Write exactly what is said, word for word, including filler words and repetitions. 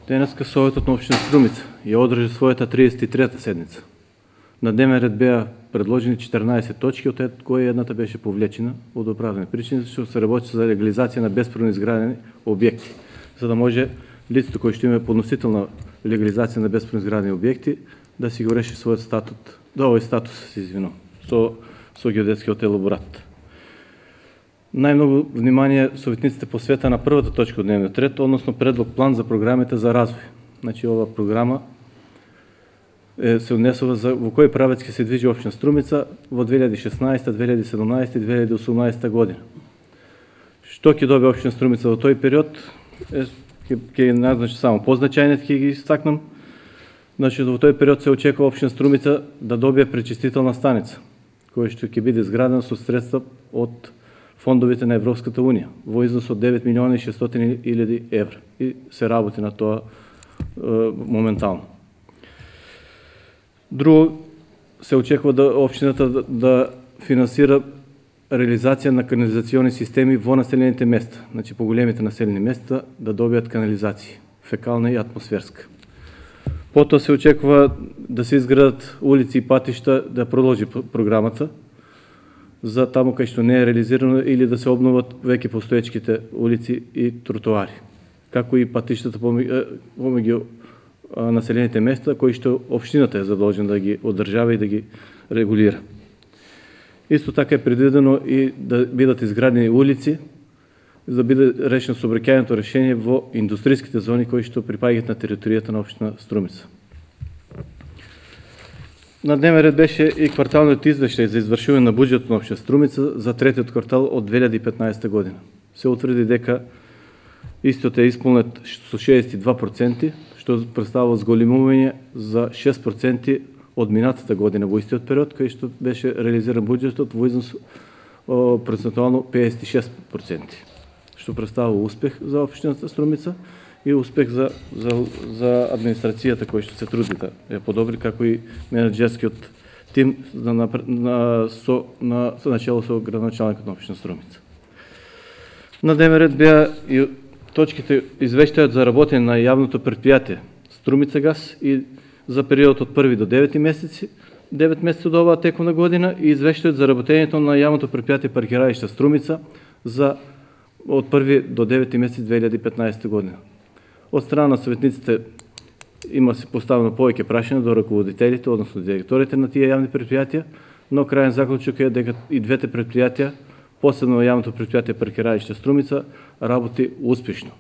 Денеска Советот на општина Струмица ја одржи својата триесет и трета седница. На дневен ред беа предложени четрнаесет точки, од кои едната беше повлечена од оправдани причини, што се работи за легализација на бесправно изградени објекти, за да може лицето кој што има подносител на легализација на бесправно изградени објекти да си го реши својот статут, да овој статус се извинувам, со со геодетскиот елаборат. Најмногу внимание советниците посвета на првата точка од дневниот ред, односно предлог план за програмите за развој. Значи ова програма е, се однесува за во кој правец ќе се движи општина Струмица во две илјади и шеснаесета, две илјади и седумнаесета и две илјади и осумнаесета година. Што ќе добие општина Струмица во тој период е ќе ќе назначи само позначајните, ќе ги истакнам. Значи во тој период се очекува општина Струмица да добие пречистителна станица, која што ќе биде изградена со средства од фондовите на Европската унија во износ од девет милиони и шестстотини илјади евра и се работи на тоа е, моментално. Друго, се очекува да општината да, да финансира реализација на канализациони системи во населените места, значи по големите населени места да добијат канализација, фекална и атмосферска. Потоа се очекува да се изградат улици и патишта, да продолжи програмата за таму кај што не е реализирано или да се обноват веќе постоечките улици и тротоари, како и патиштата помеѓу населените места кои што општината е задолжена да ги одржава и да ги регулира. Исто така е предвидено и да бидат изградени улици за да биде решено сообраќајното решение во индустријските зони кои што припаѓаат на територијата на општина Струмица. На дневен ред беше и кварталниот извештај за извршување на буџетот на општина Струмица за третиот квартал од две илјади и петнаесета година. Се утврди дека истиот е исполнет со шеесет и два проценти, што представува зголемување за шест проценти од минатата година во истиот период, кај што беше реализиран буџетот во износ процентуално педесет и шест проценти, што представува успех за општината Струмица и успех за, за, за администрацијата кој што се труди да ја подобри, како и менеджерскиот тим на, на, на, со, на, со начело со градоначалникот на општина Струмица. На дневен ред беа и точките извештајот за работење на јавното претпријатие Струмица газ и за периодот од први до девети месеци, девет месеци од оваа тековна година и извештајот за работењето на јавното претпријатие паркираишта Струмица за од први до девети месец две илјади и петнаесета година. Од страна на советниците има се поставено повеќе прашања до раководителите, односно директорите на тие јавни претпријатија, но крајен заклучок е дека и двете претпријатија, посебно јавното претпријатие паркираишта Струмица, работи успешно.